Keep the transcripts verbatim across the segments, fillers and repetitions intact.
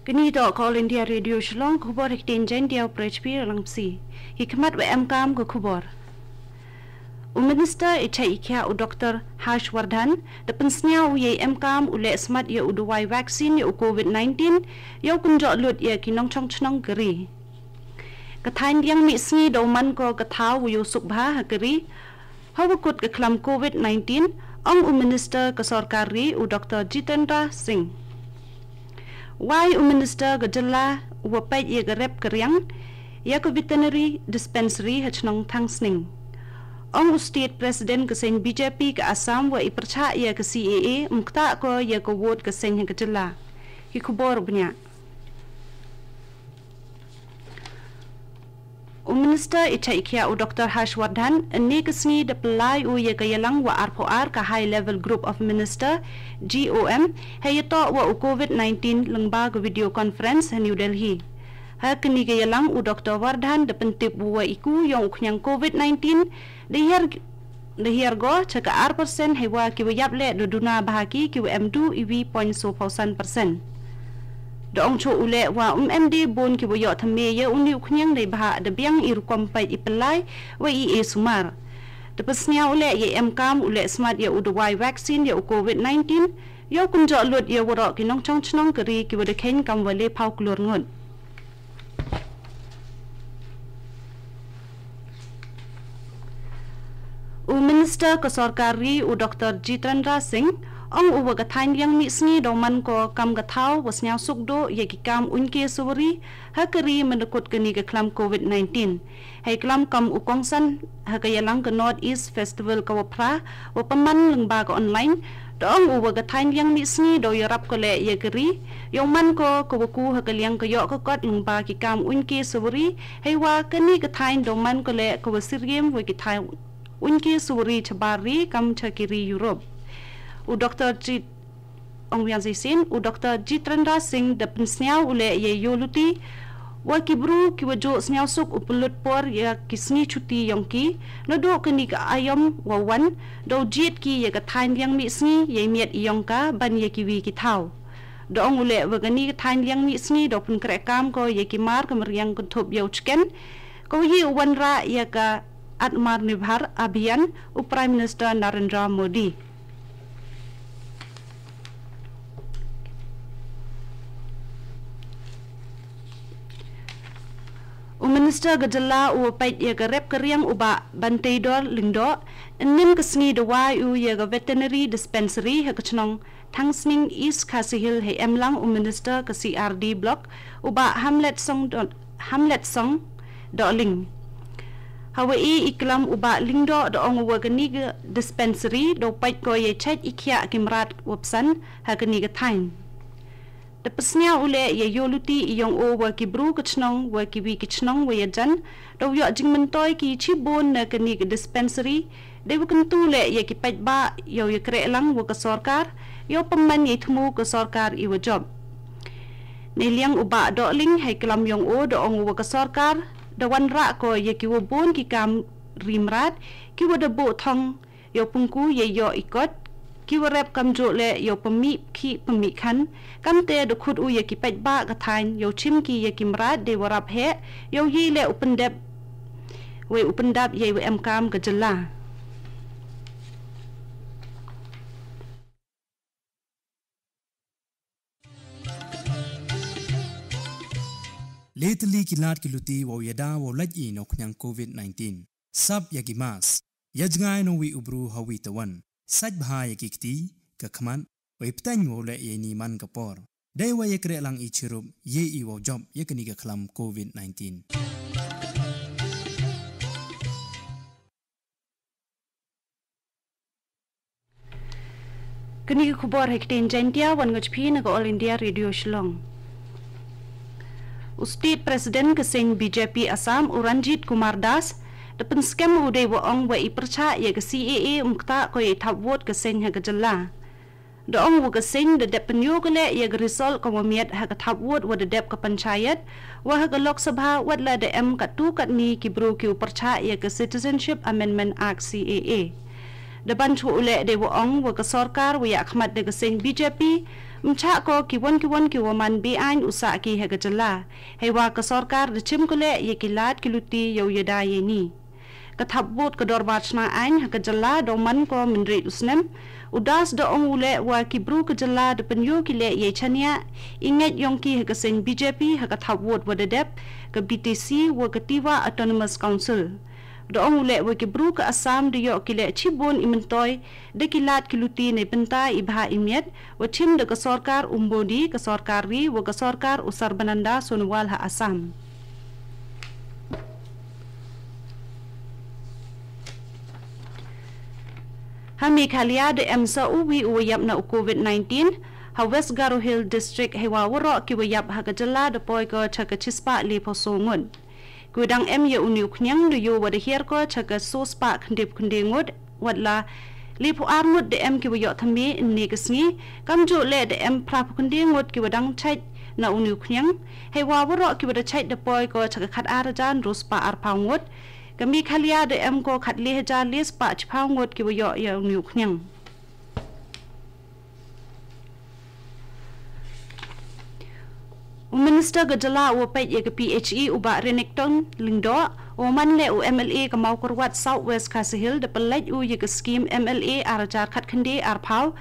Kani toh ka All India Radio Shillong, khubor ha ktien Jaiñtia, u Prechpi Ralangpsi. Ki khmat wa emkam ka khubor. U Minister i chai i khiah u Doktor Harsh Vardhan da pynsñiaw u yei emkam u leh smat ya u dawai vaccine ya u COVID nineteen, yow kynjoh lut ya ki nongchong chnong ka ri. Ka thaiñ liang mih sngi daw man ko ka thaw wa yow suk bha ha ka ri, hawa kut ka khlam COVID nineteen, ong u Minister ka sorkar ri u Doktor Jitendra Singh. Wai u Minister ka jylla wa peit ya ka rep ka riang ya ka veterinary dispensary ha chnong Thangsning. Ong u State President ka seng BJP ka Assam wa i pyrchah ya ka CAA, um ktah ko ya ka vote ka seng ha ka jylla. Ki khubor bniah. U Minister i chai i khiah u Doktor Harsh Vardhan, ynne ka sngi da pynlai u ya ka yalang wa arphew ar ka High Level Group of Minister, GOM, hei yatoh wa u COVID nineteen lyngba ka video conference ha New Delhi. Ha kani ka yalang u Doktor Vardhan da pyntip wa i ku yong u khñiang COVID nineteen da hiar da hiar go cha ka ar percent, hei wa ki wa yap leh da duna bha ki ki wa em du i wi point so phaw san percent. Da ong cho u leh wa um em de bun ki wa yoh thymme ya uni u khñiang dei bha da biang i rukom peit i pynlai wa i e sumar. Da pynsñiaw u leh ya emkam u leh smat ya u dawai vaccine ya u COVID nineteen, yow kynjoh lut ya waroh ki nongchong chnong ka ri ki wa da kheiñ kam wa le phaw klur ngut. U Minister ka sorkar ri u Doktor Jitendra Singh, ong u wa ka thaiñ liang mih sngi daw man ko kam ka thaw wa sñiaw suk duh ya ki kam uiñke suwari ha ka ri mynda kut kani ka khlam COVID nineteen. Hei klam kam u kongsan ha ka yalang ka North East Festival ka wa phra wa pynman lyngba ka online, da ong u wa ka thaiñ liang mih sngi daw yarap ko leh ya ka ri, yow man ko ka wa ku ha ka liang ka yoh ka kot lyngba ki kam uiñke suwari, hei wa kani ka thaiñ daw man ko leh ka wa syriem wa ki thaiñ uiñke suwari chabar ri kam cha ki ri Europe. U Doktor Jit Ong wiang shisien, u Doktor Jitendra Singh da pynsñiaw u leh ya yoh luti wa ki bru ki wa juh sñiaw suk u pynlut por ya ki sngi chuti yong ki, naduh kani ka aiom wa wan, daw jied ki ya ka thaiñ liang mih sngi ya i miet i yong ka ban ya ki wi ki thaw. Da ong u leh wa kani ka thaiñ liang mih sngi daw pynkreh kam ko ya ki mar ka mariang kynthup ya u chicken, ko yi u wanrah ya ka Atmanirbhar Abhiyan u Prime Minister Narendra Modi. U Minister ka jylla u wa peit ya ka rep ka riang u Bah Banteidor Lyngdoh, ynnin ka sngi da wai u ya ka veterinary dispensary ha ka chnong Thangsning East Khasi Hills, hei emlang u Minister ka CRD Block u Bah Hamletsong Doh-, Hamletsong Dohling. Hawa i i klam u Bah Lyngdoh da ong u wa kani ka dispensary daw peit ko ya chait i khiah ki mrad wa psan ha kani ka thaiñ. Da pynsñiaw u leh ya yoh luti i yong u wa ki bru ka chnong wa ki wi ki chnong wa ya jan, daw yoh jingmyntoi ki chibun na kani ka dispensary, dei wa kyntu leh ya ki paidbah yow ya kreh lang wa ka sorkar, yow pynman ya i thmu ka sorkar i wa jop. Nei liang u Bah Dohling hei klam yong u da ong u wa ka sorkar da wanrah ko ya ki wa bun ki kam ri mrad, ki wa da buh thong yow pynku ya yoh i kot, ki wa rep kamjuh leh yow pynmih khih pynmih khan, kamte da khut u ya ki paidbah ka thaiñ yow chim ki ya ki mrad dei wa rap heh, yow yi leh u pyndep, wei u pyndap ya i wa emkam ka jylla. Le tylli ki lad ki luti wow yada wow lait i na u khñiang covid nineteen. Sap ya ki mask. Ya jngai na uwi u bru ha uwi te wan. Sait bha ya ki kti, ka khmat, wei pteng wow leh ya ini man ka por. Dei wa ya kreh lang i chirup, ye i wow jop ya kani ka khlam covid nineteen. Kani ka khubor ha ktien Jaiñtia wan ngat phi na ka All India Radio Shillong. U State President ka seng B J P Assam, u Ranjit Kumar Das, da pynskhem u dei wa ong wa i pyrchah ya ka C A A um ktah ko ya i thap vote ka seng ha ka jylla. Da ong wa ka seng da dep pynyoh ka leh ya ka result ka wa miat ha ka thap vote wa da dep ka panchayat, wa ha ka Lok Sabha wat la da em katto katne ki bru ki u pyrchah ya ka Citizenship Amendment Act C A A. Da ban thuh u leh dei wa ong wa ka sorkar wa ïakhmat da ka seng B J P, ym chah ko ki won ki won ki wa man be-aiñ u sah ki ha ka jylla. Heiwa ka sorkar da chim ko leh ïa ki lad ki luti ïa u ïada ïa ini. Ka thap vote ka dorbar chna aiñ ha ka jylla da u man ko mynried u snem. U Das da ong u leh wa ki bru ka jylla da pynïoh ki leh ïa i chaniah i ngeit yong ki ha ka seng B J P ha ka thap vote wa da dep ka B T C wa ka Tiwa Autonomous Council. Da ong u leh wa ki bru ka Assam da ïoh ki leh chibun i myntoi da ki lad ki luti ne bynta i bha i miat wa chim da ka sorkar u Modi, ka sorkar ri wa ka sorkar u Sarbananda Sonowal ha Assam. Ha Meghalaya da em sa uwi u wa ïap na u COVID nineteen ha West Garo Hills District, heiwa waroh ki wa ïap ha ka jylla da poi ko cha ka chispah lephew so ngut. Ki wa dang em ïa u ni u khñiang da ïoh wa da hiar ko cha ka so spah khyndaiphew khyndai ngut, wat la lephew ar ngut da em ki wa ïoh thymme ynne ka sngi. Kamjooh leh da em phraphew khyndai ngut ki wa dang chait na u ni u khñiang, heiwa waroh ki wa da chait da poi ko cha ka khatar hajar ynru spah arphew ngut. Ka Meghalaya da em ko khatle hajar le spah chiphew ngut ki wa ïoh ïa u ni u khñiang. U Minister ka jylla u wa peit ïa ka P H E u Bah Renikton Lyngdoh, u wa man leh u M L A ka Mawkyrwat South West Khasi Hills, da pynlait u ïa ka skim M L A ar hajar khatkhyndai arphew,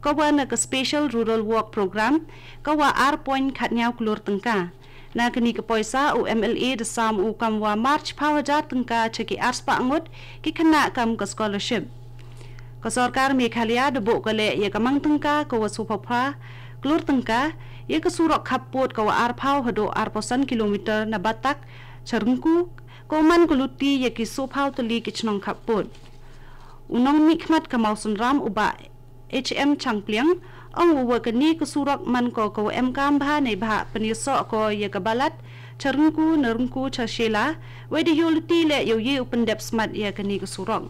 ka wa na ka Special Rural Work Programme, ka wa ar point khatñiaw klur tyngka. Na kani ka poisa u M L A da sam u kam wa mar chiphew hajar tyngka cha ki ar spah ngut ki khynnah kam ka scholarship. Ka sorkar Meghalaya da buh ka leh ïa ka mang tyngka ka wa sophew phra klur tyngka ïa ka surok khappud ka wa arphew haduh arphew san kilometer na Batak cha Ryngku, ka wa man ka luti ïa ki sophew tylli ki chnong khappud. U nongmihkhmat ka Mawsynram u Bah H M Changpliang, ong u wa kani ka surok man ko ka wa em kam bha ne bha pynïasoh ko ïa ka Balat cha Ryngku, na Ryngku cha Shella, wei da ïoh luti leh ïa u ye u pyndep smat ïa kani ka surok.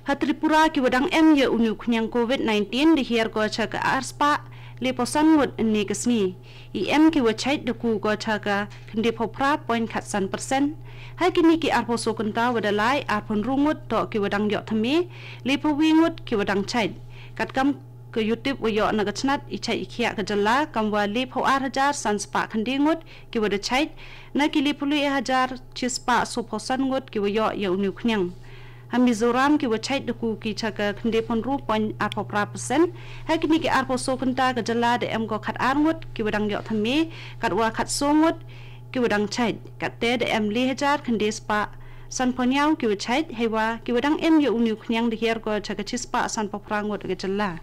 Ha Tripura ki wa dang em ïa u ni u khñiang COVID nineteen da hiar ko cha ka ar spah lephew san ngut ynne ka sngi. I em ki wa chait da ku ko cha ka khyndaiphew phra point khatsan percent. Ha kini ki arphew so kynta wa da lai, arphew ynru ngut toh ki wa dang ïoh thymme, lephew wi ngut ki wa dang chait. Katkam ka yutip wa ïoh na ka chnat i chait i khiah ka jylla, kam wa lephew ar hajar san spah khyndai ngut ki wa da chait na ki lephew le hajar chi spah sophew san ngut ki wa ïoh ïa u ni u khñiang. Ha Mizoram ki wa chait da ku ki cha ka khyndaiphew ynru point arphew phra percent. Ha kini ki arphew so kynta ka jylla da em ko khatar ngut ki wa dang ïoh thymme, katwa khatso ngut ki wa dang chait. Katte da em le hajar khyndai spah sanphew hynñiaw ki wa chait, heiwa ki wa dang em ïa u ni u khñiang da hiar ko cha ka chi spah sanphew phra ngut ka jylla.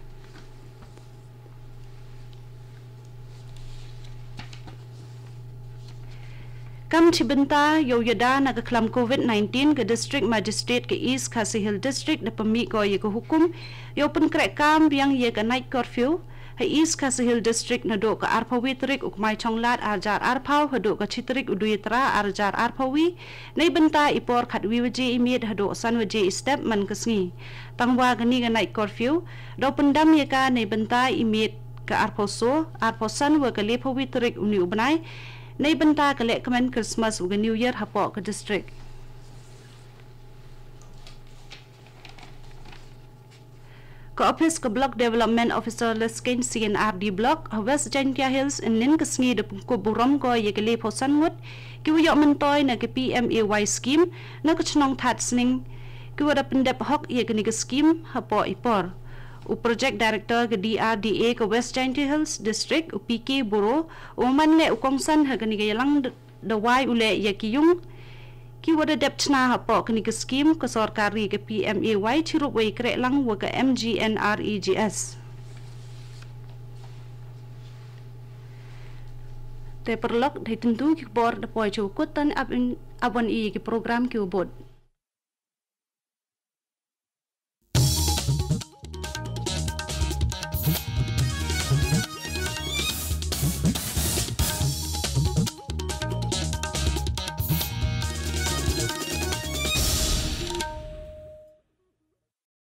Kam chi bynta ïa u ïada na ka khlam COVID nineteen, ka District Magistrate ka East Khasi Hills District da pynmih ko ïa ka hukum ïa u pynkreh kam biang ïa ka night curfew ha East Khasi Hills District naduh ka arphew wi tarik u Kmaichonglad ar hajar arphew haduh ka chi tarik u Duitara ar hajar arphew wi, nei bynta i por khatwi waje i miet haduh san waje i step man ka sngi. Tangwa kani ka night curfew da u pyndam ïa ka nei bynta i miet ka arphew so, arphew san wa ka lephew wi tarik u ni u bnai, nei bynta ka lehkmen Christmas wa ka New Year hapoh ka district. Ka ophis ka Block Development Officer Leskein C and R D Block ha West Jaintia Hills ynnin ka sngi da pynkup burom ko ïa ka lephew san ngut ki wa ïoh myntoi na ka P M A Y scheme na ka chnong Thatsning, ki wa da pyndep hok ïa kani ka scheme hapoh i por. U Project Director ka D R D A ka West Jaintia Hills District, u P K Boro, u man leh u kongsan ha kani ka ïalang d-, da wai u leh ïa ki yung ki wa da dep chna hapoh kani ka scheme ka sorkar ri ka P M A Y chirup wa i kreh lang wa ka M G N R E G S. Te paralok, dei tyntu ki khubor da poi cha u kut, tan ap in, ap wan i ki program ki wa bud.